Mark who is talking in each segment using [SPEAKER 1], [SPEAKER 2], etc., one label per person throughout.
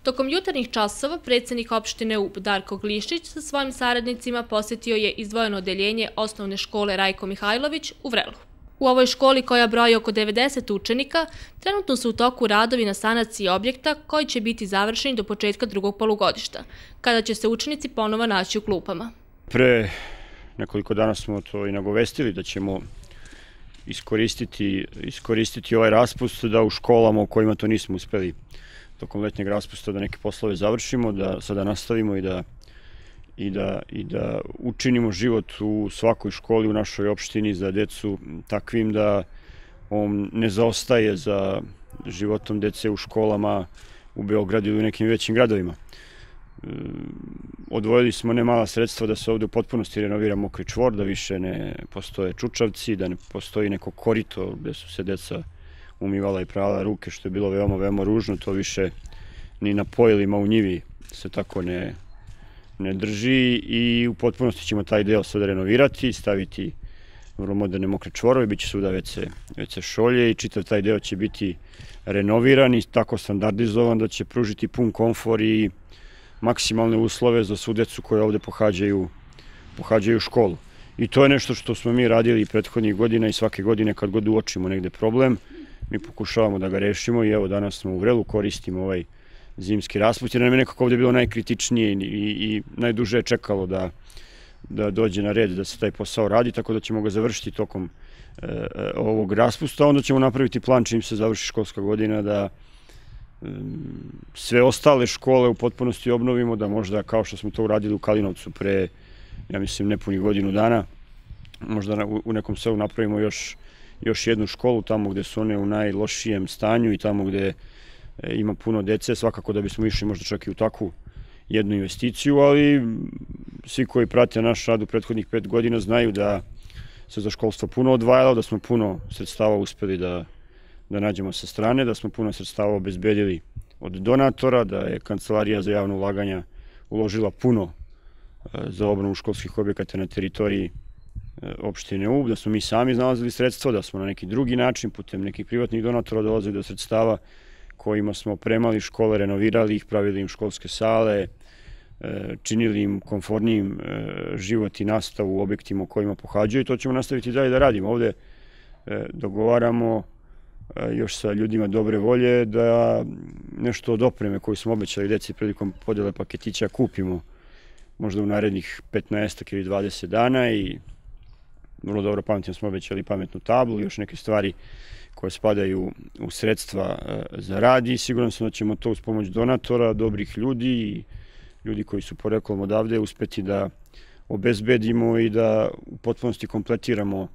[SPEAKER 1] Tokom jutarnjih časova predsjednik opštine Ub Darko Glišić sa svojim saradnicima posjetio je izdvojeno odeljenje osnovne škole Rajko Mihajlović u Vrelu. U ovoj školi, koja broji oko 90 učenika, trenutno su u toku radovi na sanaciji objekta koji će biti završeni do početka drugog polugodišta, kada će se učenici ponovo naći u klupama.
[SPEAKER 2] Pre nekoliko dana smo to i nagovestili da ćemo iskoristiti ovaj raspust da u školama u kojima to nismo uspeli tokom letnjeg raspusta da neke poslove završimo, da sada nastavimo i da učinimo život u svakoj školi u našoj opštini za decu takvim da on ne zaostaje za životom dece u školama u Beogradu ili u nekim većim gradovima. Odvojili smo ne mala sredstva da se ovde u potpunosti renovira mokri čvor, da više ne postoje čučavci, da ne postoji neko korito gde su se deca umivala i prala ruke, što je bilo veoma, veoma ružno. To više ni na pojilima u njivi se tako ne drži i u potpunosti ćemo taj deo sada renovirati, staviti vrlo moderne mokre čvorove, bit će svuda WC šolje i čitav taj deo će biti renoviran i tako standardizovan da će pružiti pun komfor i maksimalne uslove za svu decu koje ovde pohađaju školu. I to je nešto što smo mi radili prethodnih godina i svake godine kad god uočimo negde problem, mi pokušavamo da ga rešimo i evo danas smo u Vrelu, koristimo ovaj zimski raspust jer nam je nekako ovde bilo najkritičnije i najduže je čekalo da dođe na red da se taj posao radi, tako da ćemo ga završiti tokom ovog raspusta, onda ćemo napraviti plan čim se završi školska godina da sve ostale škole u potpunosti obnovimo, da možda kao što smo to uradili u Kalinovcu pre, ja mislim, nepunih godinu dana, možda u nekom selu napravimo još jednu školu tamo gde su one u najlošijem stanju i tamo gde ima puno dece, svakako da bismo išli možda čak i u takvu jednu investiciju, ali svi koji prate naš rad u prethodnih 5 godina znaju da se za školstvo puno odvajalo, da smo puno sredstava uspeli da nađemo sa strane, da smo puno sredstava obezbedili od donatora, da je Kancelarija za javno ulaganja uložila puno za obnovu školskih objekata na teritoriji opštine Ub, da smo mi sami iznalazili sredstva, da smo na neki drugi način, putem nekih privatnih donatora dolazili do sredstava kojima smo opremali škole, renovirali ih, pravili im školske sale, činili im komfornijim život i nastavu u objektima u kojima pohađaju i to ćemo nastaviti dalje da radimo. Ovde dogovaramo još sa ljudima dobre volje da nešto od opreme koju smo obećali deci prilikom podele paketića kupimo možda u narednih 15 ili 20 dana i vrlo dobro pamtim smo obećali pametnu tablu i još neke stvari koje spadaju u sredstva za rad i siguran sam da ćemo to uz pomoć donatora, dobrih ljudi i ljudi koji su poreklom odavde uspeti da obezbedimo i da u potpunosti kompletiramo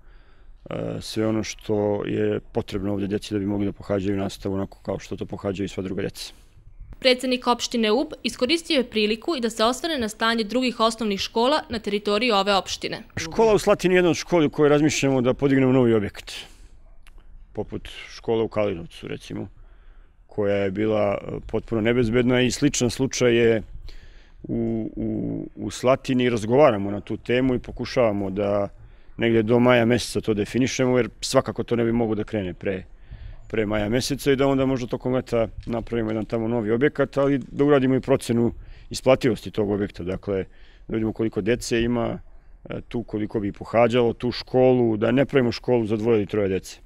[SPEAKER 2] sve ono što je potrebno ovde deci da bi mogli da pohađaju nastavu onako kao što to pohađaju i sva druga deca.
[SPEAKER 1] Predsjednik opštine Ub iskoristio je priliku i da se osvrne na stanje drugih osnovnih škola na teritoriji ove opštine.
[SPEAKER 2] Škola u Slatini je jedna od škola u kojoj razmišljamo da podignemo novi objekat, poput škole u Kalinovcu recimo, koja je bila potpuno nebezbedna i sličan slučaj je u Slatini. Razgovaramo na tu temu i pokušavamo da negde do maja meseca to definišemo, jer svakako to ne bi mogo da krene pre maja meseca i da onda možda tokom leta napravimo jedan tamo novi objekat, ali da uradimo i procenu isplativosti tog objekta, dakle da vidimo koliko dece ima tu, koliko bi pohađalo tu školu, da ne pravimo školu za 2 ili 3 dece.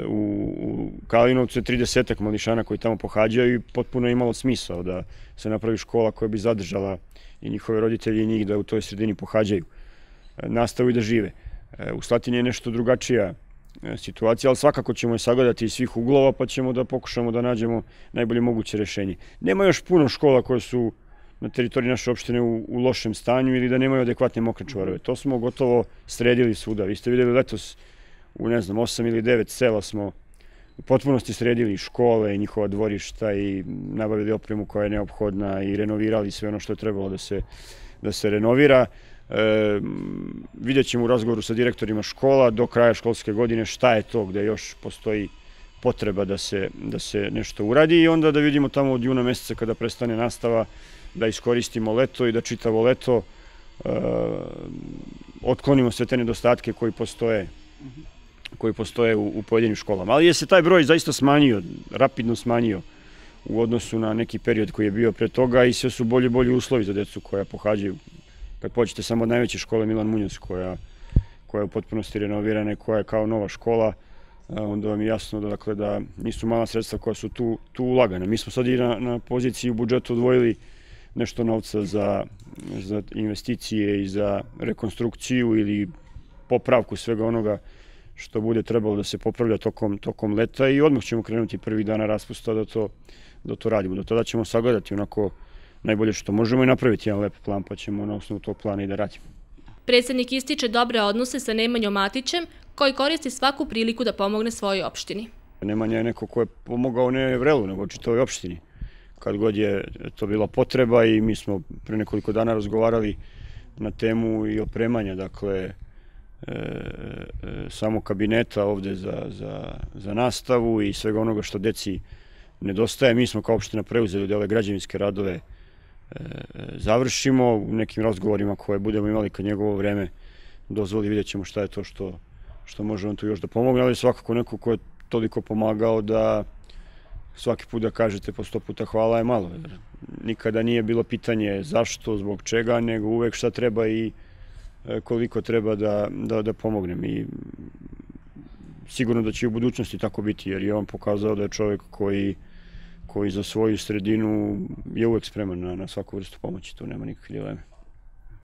[SPEAKER 2] U Kalinovcu je 30 mališana koji tamo pohađaju i potpuno je imalo smisao da se napravi škola koja bi zadržala i njihove roditelje i njih da u toj sredini pohađaju nastavu i da žive. U Slatini je nešto drugačija situacija, ali svakako ćemo je sagledati iz svih uglova pa ćemo da pokušamo da nađemo najbolje moguće rešenje. Nema još puno škola koje su na teritoriji naše opštine u lošem stanju ili da nemaju adekvatne mokre čvorove. To smo gotovo sredili svuda. Vi ste videli letos u, ne znam, 8 ili 9 sela smo u potpunosti sredili škole i njihova dvorišta i nabavili opremu koja je neophodna i renovirali sve ono što je trebalo da se renovira. Vidjet ćemo u razgovoru sa direktorima škola do kraja školske godine šta je to gde još postoji potreba da se nešto uradi i onda da vidimo tamo od juna meseca kada prestane nastava da iskoristimo leto i da čitavo leto otklonimo sve te nedostatke koji postoje u pojedinim školama. Ali je se taj broj zaista smanjio, rapidno smanjio u odnosu na neki period koji je bio pre toga i sve su bolji i bolji uslovi za decu koja pohađaju. Kad pođete samo od najveće škole Milan Munoz koja je u potpunosti renovirana i koja je kao nova škola, onda vam je jasno da nisu mala sredstva koja su tu ulagana. Mi smo sad i na poziciji u budžetu odvojili nešto novca za investicije i za rekonstrukciju ili popravku svega onoga što bude trebalo da se popravlja tokom leta i odmah ćemo krenuti prvih dana raspusta da to radimo. Do tada ćemo sagledati onako najbolje što možemo i napraviti jedan lep plan, pa ćemo na osnovu tog plana i da radimo.
[SPEAKER 1] Predsjednik ističe dobre odnose sa Nemanjom Matićem, koji koristi svaku priliku da pomogne svojoj opštini.
[SPEAKER 2] Nemanja je neko ko je pomogao ne Vrelu, nego čitavoj opštini. Kad god je to bila potreba i mi smo pre nekoliko dana razgovarali na temu i opremanja, dakle, samo kabineta ovde za nastavu i svega onoga što deci nedostaje. Mi smo kao opština preuzeli da ove građevinske radove završimo. U nekim razgovorima koje budemo imali kad njegovo vreme dozvoli, vidjet ćemo šta je to što može on tu još da pomogne, ali svakako neko ko je toliko pomagao da svaki put da kažete po 100 puta hvala je malo. Nikada nije bilo pitanje zašto, zbog čega, nego uvek šta treba i koliko treba da pomognem. I sigurno da će i u budućnosti tako biti, jer je on pokazao da je čovjek koji za svoju sredinu je uvek spreman na svaku vrstu pomoći, tu nema nikakve dileme.